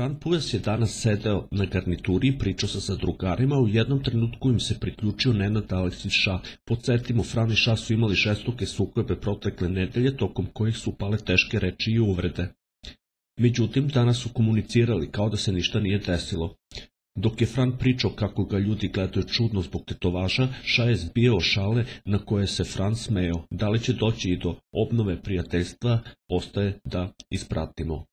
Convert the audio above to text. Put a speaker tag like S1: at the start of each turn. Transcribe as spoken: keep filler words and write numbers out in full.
S1: Fran Pujas je danas sedeo na garnituri i pričao sa sa drugarima, u jednom trenutku im se priključio Nenad Aleksić Ša. Podsjetimo, Fran i Ša su imali žestoke sukobe protekle nedelje, tokom kojih su pale teške reči i uvrede. Međutim, danas su komunicirali kao da se ništa nije desilo. Dok je Fran pričao kako ga ljudi gledaju čudno zbog tetovaža, Ša je zbijao šale na koje se Fran smejao. Da li će doći i do obnove prijateljstva, ostaje da ispratimo.